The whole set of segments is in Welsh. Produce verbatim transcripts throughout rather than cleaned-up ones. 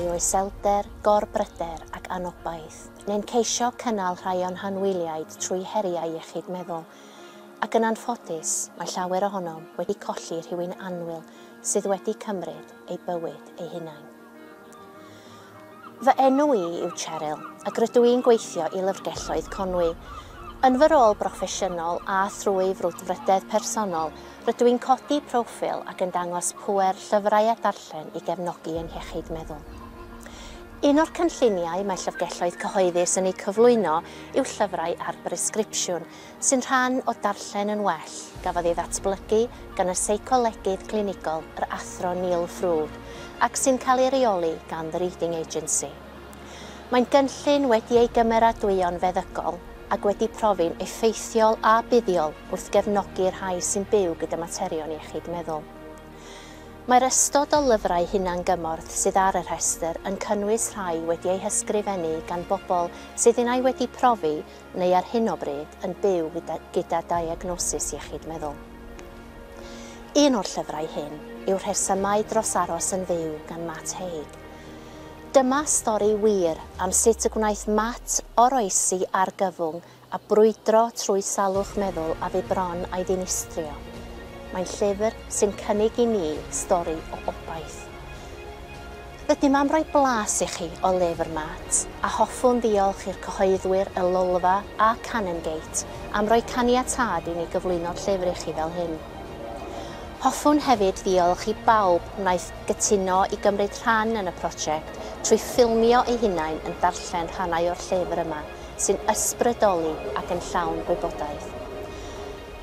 o iselder, gorbryder ac anobaith, neu'n ceisio cynnal rhai o'n hanwyliaid trwy heriau iechyd meddwl. Ac yn anffodus, mae llawer ohonom wedi colli rhywun annwyl sydd wedi cymryd eu bywyd eu hunain. Fy enw i yw Cheryl, ac rydw i'n gweithio i Lyfrgelloedd Conwy. Yn fy rôl broffesiynol a thrwy frwdfrydedd personol, rydw i'n codi proffil ac yn dangos pŵer llyfrau a darllen i gefnogi ein hiechyd meddwl. Un o'r cynlluniau mae llyfrgelloedd cyhoeddus yn eu cyflwyno yw llyfrau ar bresgripsiwn, sy'n rhan o Darllen yn Well, gafodd ei ddatblygu gan y seicolegydd clinigol yr Athro Neil Frood, ac sy'n cael ei reoli gan The Reading Agency. Mae'n gynllun wedi ei gymeradwyo'n feddygol ac wedi profi'n effeithiol a buddiol wrth gefnogi'r rhai sy'n byw gyda materion iechyd meddwl. Mae'r ystod o lyfrau hunangymorth sydd ar y rhestr yn cynnwys rhai wedi eu hysgrifennu gan bobl sydd unai wedi profi neu ar hyn o bryd yn byw gyda, gyda diagnosis iechyd meddwl. Un o'r llyfrau hyn yw Rhesymau dros aros yn fyw gan Matt Haig. Dyma stori wir am sut y gwnaeth Matt oroesi argyfwng a brwydro trwy salwch meddwl a fu bron a'i ddinistrio. Mae'n llyfr sy'n cynnig i ni stori o obaith. Rydym am roi blas i chi o lyfr Matt, a hoffwn ddiolch i'r cyhoeddwyr Y Lolfa a Canongate am roi caniatâd i ni gyflwyno'r llyfr i chi fel hyn. Hoffwn hefyd ddiolch i bawb wnaeth gytuno i gymryd rhan yn y prosiect trwy ffilmio eu hunain yn darllen rhannau o'r llyfr yma sy'n ysbrydoli ac yn llawn gwybodaeth.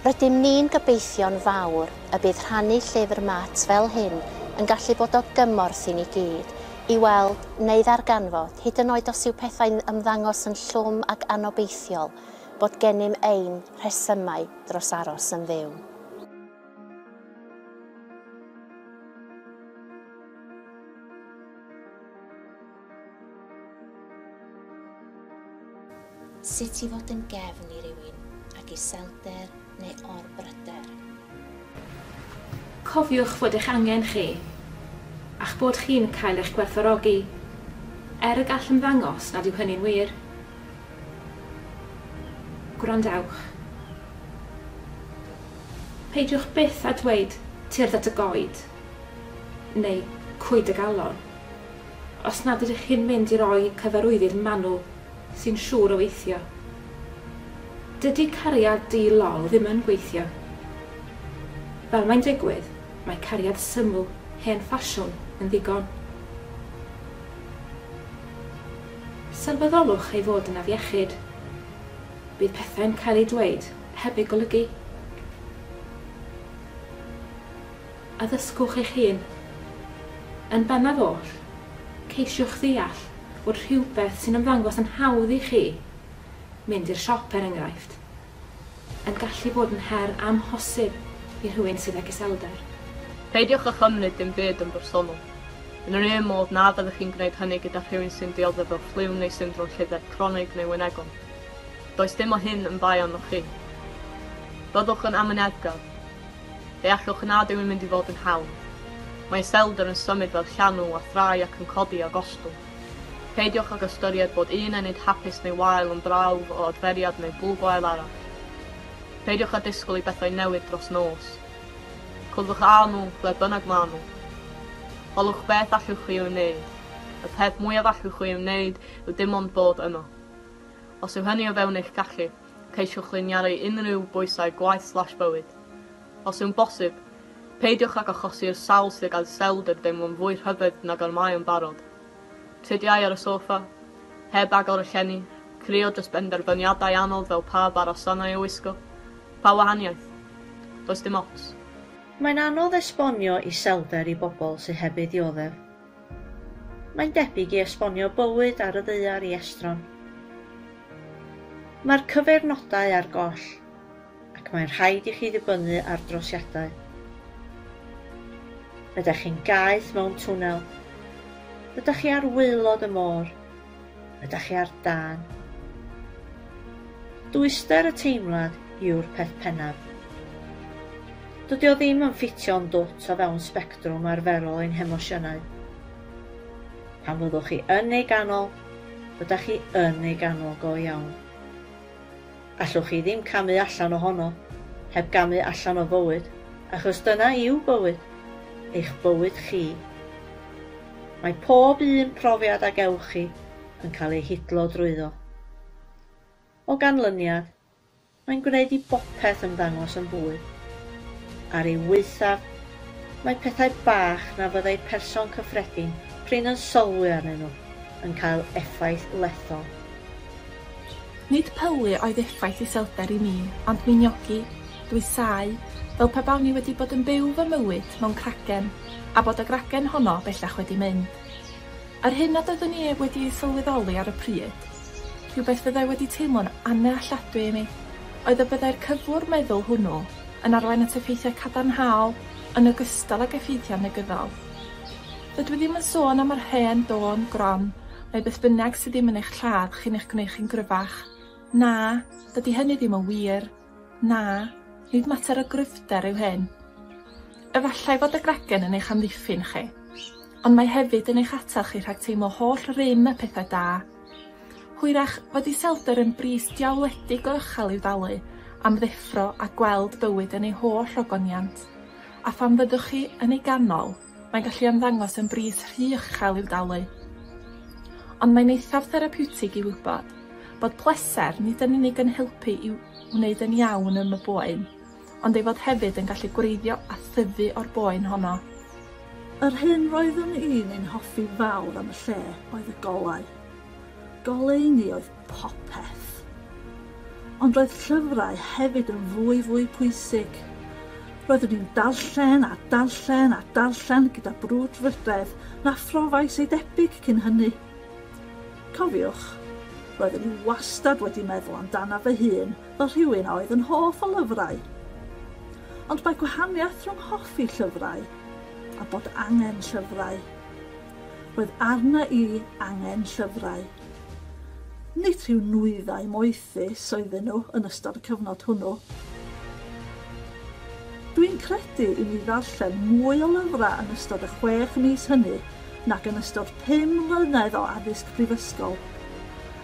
Rydym ni'n gobeithio'n fawr y bydd rhannu llyfr Matt fel hyn yn gallu bod o gymorth i ni gyd i weld neu ddarganfod, hyd yn oed os yw pethau'n ymddangos yn llwm ac anobeithiol, bod gennym ein rhesymau dros aros yn fyw. Sut i fod yn gefn i rywun ac iselder neu orbryder. Cofiwch fod eich angen chi, a'ch bod chi'n cael eich gwerthfawrogi, er y gall ymddangos nad yw hynny'n wir. Gwrandewch. Peidiwch byth â dweud tyrd at y goed, neu cwyd y galon, os nad ydych chi'n mynd i roi cyfarwyddyd manwl sy'n siŵr o weithio. Dydy cariad di-lol ddim yn gweithio. Fel mae'n digwydd, mae cariad syml, hen ffasiwn, yn ddigon. Sylweddolwch ei fod yn afiechyd. Bydd pethau'n cael eu dweud heb eu golygu. Addysgwch eich hun. Yn bennaf oll, ceisiwch ddeall bod rhywbeth sy'n ymddangos yn hawdd i chi, mynd i'r siop er enghraifft, yn gallu bod yn her amhosib i rhywun sydd ag iselder. Peidiwch â chymryd dim byd yn bersonol. Yn yr un modd na fyddwch chi'n gwneud hynny gyda rhywun sy'n dioddef o ffliw neu syndrom lleddf cronig neu wynegol. Does dim o hyn yn bai arnoch chi. Byddwch yn amyneddgar. Deallwch nad yw'n mynd i fod yn hawdd. Mae iselder yn symud fel llanw a thrai ac yn codi a gostwng. Peidiwch ag ystyried bod un ennyd hapus neu wael yn brawf o adferiad neu bwl gwael arall. Peidiwch â disgwyl i bethau newid dros nos. Cwrddwch â nhw ble bynnag maen nhw. Holwch beth allwch chi i'w wneud. Y peth mwyaf allwch chi i'w wneud yw dim ond bod yno. Os yw hynny o fewn eich gallu, ceisiwch liniaru unrhyw bwysau gwaith slash bywyd. Os yw'n bosib, peidiwch ag achosi'r sawl sydd ag iselder deimlo'n fwy rhyfedd nag ar mae yn barod. Tridiau ar y soffa, heb agor y llenni, crio dros benderfyniadau anodd fel pa barasannau i'w wisgo. Pa wahaniaeth? Does dim ots. Mae'n anodd esbonio iselder i bobl sydd heb ei ddioddef. Mae'n debyg i esbonio bywyd ar y ddaear i estron. Mae'r cyfeirnodau ar goll, ac mae'n rhaid i chi ddibynnu ar drosiadau. Ydych chi'n gaeth mewn twnnel. Ydych chi ar waelod y môr? Ydych chi ar dân? Dwyster y teimlad yw'r peth pennaf. Dydy o ddim yn ffitio'n dwt o fewn sbectrwm arferol ein hemosiynau. Pan fyddwch chi yn ei ganol, rydych chi yn ei ganol go iawn. Allwch chi ddim camu allan ohono, heb gamu allan o fywyd, achos dyna yw bywyd, eich bywyd chi. Mae pob un profiad a gewch chi yn cael ei hidlo drwyddo. O ganlyniad, mae'n gwneud i bopeth ymddangos yn fwy. Ar ei waethaf, mae pethau bach na fyddai person cyffredin prin yn sylwi arnyn nhw yn cael effaith lethol. Nid pylu oedd effaith iselder i mi, ond miniogi, dwysáu, fel pe bawn i wedi bod yn byw fy mywyd mewn cragen, a bod y gragen honno bellach wedi mynd. Yr hyn nad oeddwn i wedi ei sylweddoli ar y pryd, rhywbeth fyddai wedi teimlo'n annealladwy i mi, oedd y byddai'r cyflwr meddwl hwnnw yn arwain at effeithiau cadarnhaol yn ogystal ag effeithiau negyddol. Dydw i ddim yn sôn am yr hen dôn gron, mae beth bynnag sydd ddim yn eich lladd chi'n eich gwneud chi'n gryfach. Na, dydy hynny ddim yn wir. Na, nid mater o gryfder yw hyn. Efallai fod y gragen yn eich amddiffyn chi, ond mae hefyd yn eich atal chi rhag teimlo holl rym y pethau da. Hwyrach fod iselder yn bris diawledig o uchel i'w dalu am ddeffro a gweld bywyd yn ei holl ogoniant, a phan fyddwch chi yn ei ganol, mae'n gallu ymddangos yn bris rhy uchel i'w dalu. Ond mae'n eithaf therapiwtig i wybod bod pleser nid yn unig yn helpu i wneud yn iawn ym y boen, ond ei fod hefyd yn gallu gwreiddio a thyfu o'r boen honno. Yr hyn roeddwn i'n ein hoffi fawr am y lle oedd y golau. Goleuni oedd popeth. Ond roedd llyfrau hefyd yn fwy fwy pwysig. Roeddwn i'n darllen a darllen a darllen gyda brwdfrydedd na phrofais ei debyg cyn hynny. Cofiwch, roeddwn i wastad wedi meddwl amdana fy hun fel rhywun a oedd yn hoff o lyfrau. Ond mae gwahaniaeth rhwng hoffi llyfrau a bod angen llyfrau. Roedd arna i angen llyfrau. Nid rhyw nwyddau moethus oedden nhw yn ystod y cyfnod hwnnw. Dwi'n credu i mi ddarllen mwy o lyfrau yn ystod y chwech mis hynny nag yn ystod pum mlynedd o addysg prifysgol,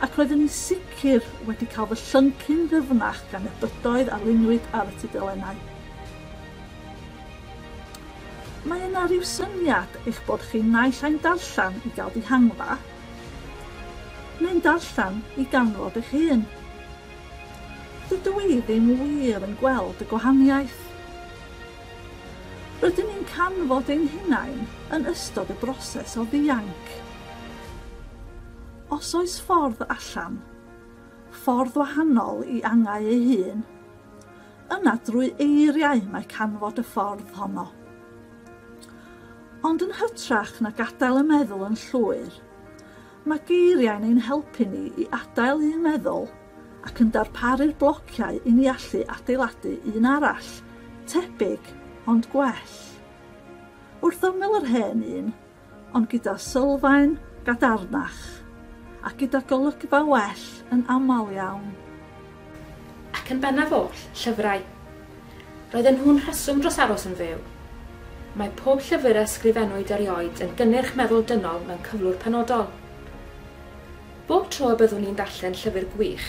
ac roeddwn i'n sicr wedi cael fy llyncu'n ddyfnach gan y bydoedd a luniwyd ar y tudalennau. Mae yna rhyw syniad eich bod chi naill ai'n darllen i gael dihangfa, neu'n darllen i ganfod eich hun. Dydw i ddim wir yn gweld y gwahaniaeth. Rydyn ni'n canfod ein hunain yn ystod y broses o ddianc. Os oes ffordd allan, ffordd wahanol i angau ei hun, yna drwy eiriau mae canfod y ffordd honno. Ond yn hytrach na gadael y meddwl yn llwyr, mae geiriau'n ein helpu ni i adael un meddwl ac yn darparu'r blociau i ni allu adeiladu un arall, tebyg ond gwell. Wrth ymyl yr hen un, ond gyda sylfaen gadarnach, a gyda golygfa well yn aml iawn. Ac yn bennaf oll, llyfrau. Roedden nhw'n rheswm dros aros yn fyw. Mae pob llyfr a ysgrifennwyd erioed yn gynnyrch meddwl dynol mewn cyflwr penodol. Bob tro y byddwn i'n darllen llyfr gwych,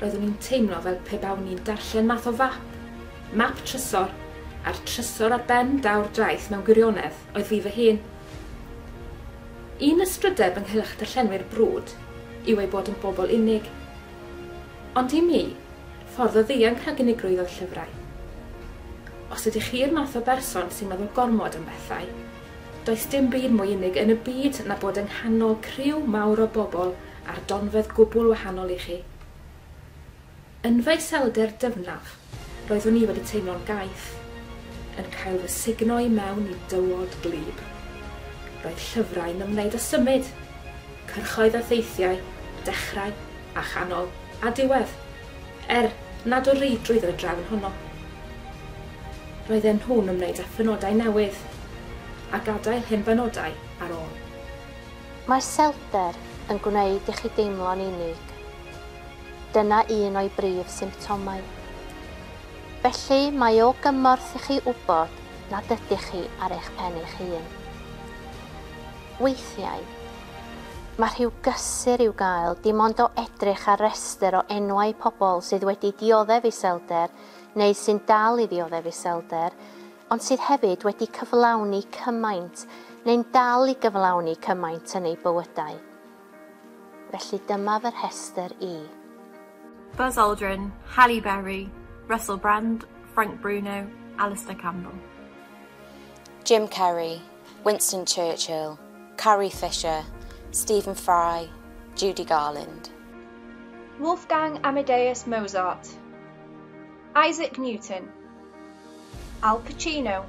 roeddwn i'n teimlo fel pe bawn i'n darllen math o fap, map trysor, a'r trysor ar ben daw'r draeth mewn gwirionedd oedd fi fy hun. Un ystrydeb ynghylch darllenwyr brwd yw ei bod yn bobl unig. Ond i mi, ffordd o ddianc rhag unigrwydd oedd llyfrau. Os ydych chi'r math o berson sy'n meddwl gormod am bethau, does dim byd mwy unig yn y byd na bod yng nghanol criw mawr o bobl ar donfedd gwbl wahanol i chi. Yn fy iselder dyfnaf, roeddwn i wedi teimlo'n gaeth, yn cael fy sugno i mewn i dywod gwlyb. Roedd llyfrau'n ymwneud â symud, cyrchoedd a theithiau, dechrau a chanol a diwedd, er nad o reidrwydd yn y drefn honno. Roedden nhw'n ymwneud â phenodau newydd, a gadael hen benodau ar ôl. Mae iselder yn gwneud i chi deimlo'n unig. Dyna un o'i brif symptomau. Felly mae o gymorth i chi wybod nad ydych chi ar eich pen eich hun. Weithiau, Mae rhyw gysur i'w gael dim ond o edrych ar restr o enwau pobl sydd wedi dioddef iselder neu sy'n dal i ddioddef iselder, ond sydd hefyd wedi cyflawni cymaint neu'n dal i gyflawni cymaint yn eu bywydau. Felly dyma fy rhestr i. Buzz Aldrin, Halle Berry, Russell Brand, Frank Bruno, Alistair Campbell. Jim Carrey, Winston Churchill, Carrie Fisher, Stephen Fry, Judy Garland. Wolfgang Amadeus Mozart, Isaac Newton, Al Pacino,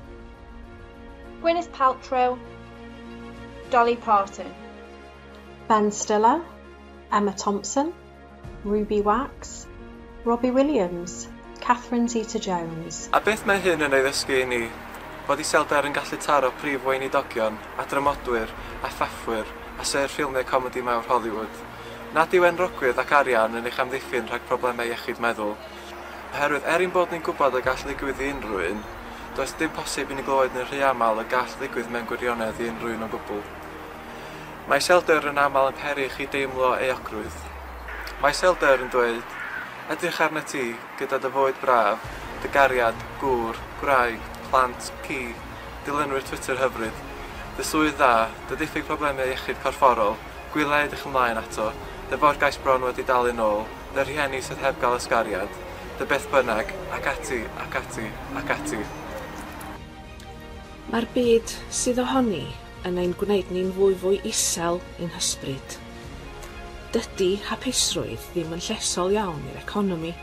Gwyneth Paltrow, Dolly Parton. Ben Stiller, Emma Thompson, Ruby Wax, Robbie Williams, Catherine Zeta-Jones. A beth mae hyn yn ei ddysgu i ni? Bod iselder yn gallu taro prif weinidogion, a dramodwyr, a phaffwyr, a sêr ffilmiau comedi mawr Hollywood. Nad yw enwogrwydd ac arian yn eich amddiffyn rhag problemau iechyd meddwl. Oherwydd er ein bod ni'n gwybod y gall ddigwydd i unrhyw un, does dim posib i ni glywed yn rhy aml y gall ddigwydd mewn gwirionedd i unrhyw un o gwbl. Mae iselder yn aml yn peri i chi deimlo euogrwydd. Mae iselder yn dweud, edrych arnat ti gyda dy fywyd braf, dy gariad, gŵr, gwraig, plant, ci, dilynwyr Twitter hyfryd, dy swydd dda, dy diffyg problemau iechyd corfforol, gwyliau edrych ymlaen ato, dy forgais bron wedi dalu nôl, dy rhieni sydd heb gael ysgariad, dy beth bynnag, ac ati, ac ati, ac ati. Mae'r byd sydd ohoni yn ein gwneud ni'n fwy fwy isel i'n hysbryd. Dydy hapusrwydd ddim yn llesol iawn i'r economi.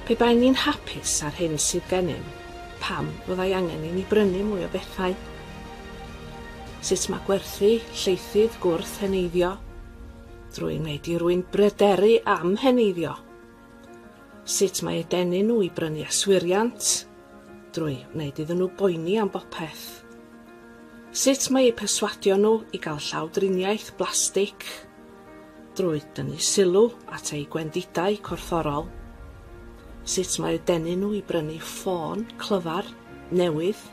Pe baen ni'n hapus ar hyn sydd gennym, pam fyddai angen i ni brynu mwy o bethau? Sut mae gwerthu lleithydd gwrth heneiddio? Drwy wneud i rywun bryderu am heneiddio. Sut mae eu denu nhw i brynu aswiriant? Drwy wneud iddyn nhw boeni am bopeth. Sut mae eu perswadio nhw i gael llawdriniaeth blastig? Drwy dynnu sylw at eu gwendidau corfforol. Sut mae eu denu nhw i brynu ffôn clyfar newydd?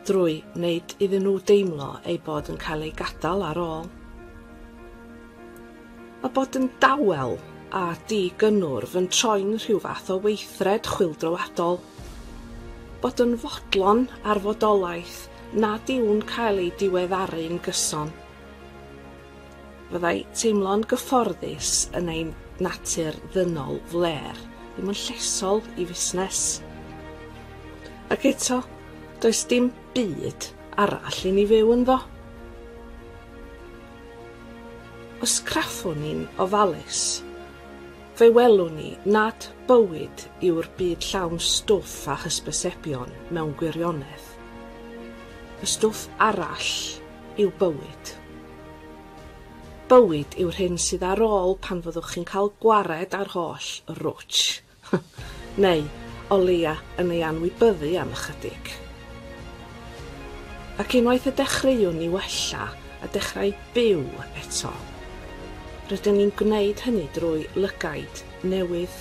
Drwy wneud iddyn nhw deimlo eu bod yn cael eu gadael ar ôl. Mae bod yn dawel a digynnwrf yn troi'n rhyw fath o weithred chwyldroadol. Bod yn fodlon ar fodolaeth nad yw'n cael ei diweddaru'n gyson. Fyddai teimlo'n gyfforddus yn ein natur ddynol flêr ddim yn llesol i fusnes. Ac eto, does dim byd arall i ni fyw ynddo. Os craffwn ni'n ofalus, fe welwn ni nad bywyd yw'r byd llawn stwff a hysbysebion mewn gwirionedd. Y stwff arall yw bywyd. Bywyd yw'r hyn sydd ar ôl pan fyddwch chi'n cael gwared ar holl rwtsh, neu o leia yn ei anwybyddu am ychydig. Ac unwaith y dechreuwn ni wella a dechrau byw eto, rydyn ni'n gwneud hynny drwy lygaid newydd.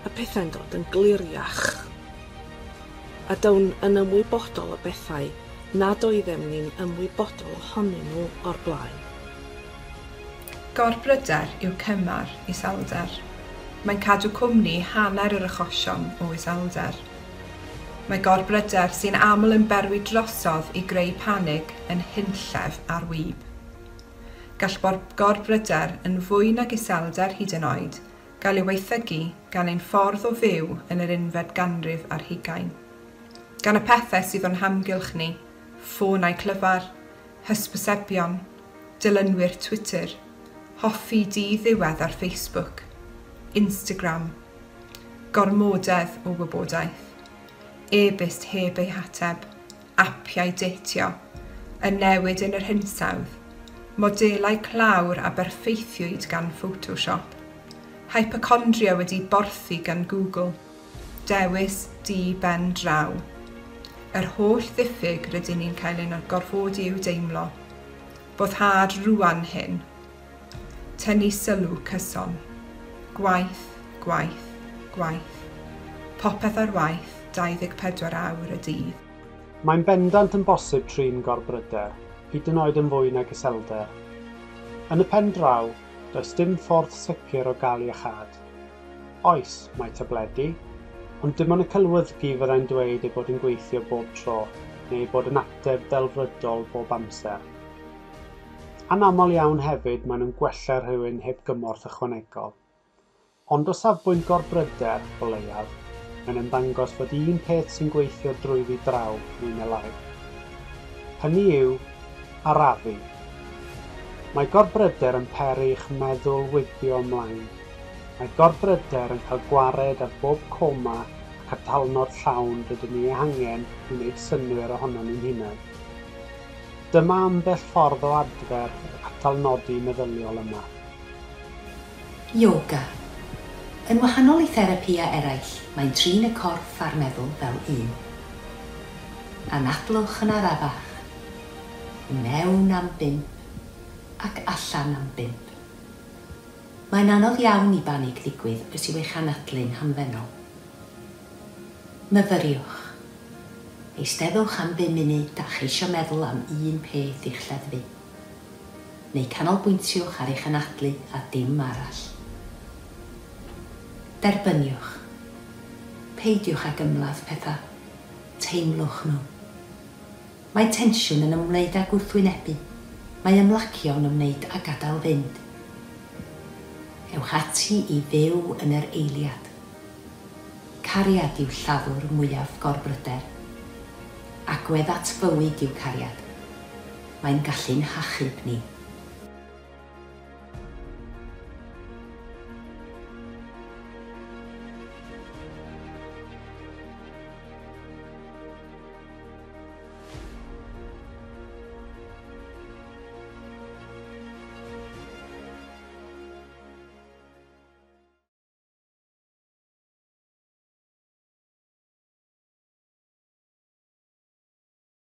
A pethau'n dod yn gliriach. A down yn ymwybodol o bethau nad oeddem ni'n ymwybodol ohonyn nhw o'r blaen. Gorbryder yw cymar iselder. Mae'n cadw cwmni hanner yr achosion o iselder. Mae gorbryder sy'n aml yn berwi drosodd i greu panig yn hunllef ar wib. Gall gorbryder yn fwy nag iselder hyd yn oed gael ei weithgygu gan ein ffordd o fyw yn yr unfed ganrif ar hugain. Gan y pethau sydd o'n hamgylch ni, ffonau clyfar, hysbysebion, dilynwyr Twitter, hoffi di-ddiwedd ar Facebook, Instagram, gormodedd o wybodaeth, e-byst heb ei hateb, apiau deitio, y newid yn yr hinsawdd, modelau clawr a berffeithiwyd gan Photoshop, hypochondria wedi borthi gan Google, dewis di ben draw. Yr holl ddiffyg rydyn ni'n cael ein gorfodi i'w deimlo. Boddhad rŵan hyn. Tynnu sylw cyson. Gwaith, gwaith, gwaith. Popeth ar waith dau ddeg pedwar awr y dydd. Mae'n bendant yn bosib trin gorbryder. hyd yn oed yn fwy nag iselder. Yn y pen draw, does dim ffordd sicr o gael iachâd. Oes, mae tabledi, ond dim ond y celwyddgi fyddai'n dweud ei bod yn gweithio bob tro, neu ei bod yn ateb delfrydol bob amser. Anaml iawn hefyd maen nhw'n gwella rhywun heb gymorth ychwanegol. Ond o safbwynt gorbryder, o leiaf, mae'n ymddangos fod un peth sy'n gweithio drwyddi draw mwy neu lai. Hynny yw, arafu. Mae gorbryder yn peri i'ch meddwl wibio ymlaen. Mae gorbryder yn cael gwared ar bob coma ac atalnod llawn rydyn ni ei hangen i wneud synnwyr ohonon ni'n hunain. Dyma ambell ffordd o adfer yr atalnodi meddyliol yma. Yoga. Yn wahanol i therapïau eraill, mae'n trin y corff a'r meddwl fel un. Anadlwch yn arafach. I mewn am bump ac allan am bump. Mae'n anodd iawn i banig ddigwydd os yw eich anadlu'n hamddenol. Myfyriwch. Eisteddwch am bum munud a cheisio meddwl am un peth i'ch lleddfu. Neu canolbwyntiwch ar eich anadlu a dim arall. Derbyniwch. Peidiwch ag ymladd pethau. Teimlwch nhw. Mae tensiwn yn ymwneud â gwrthwynebu. Mae ymlacio yn ymwneud â gadael fynd. Ewch ati i fyw yn yr eiliad. Cariad yw lladdwr mwyaf gorbryder. Agwedd at fywyd yw cariad. Mae'n gallu'n hachub ni.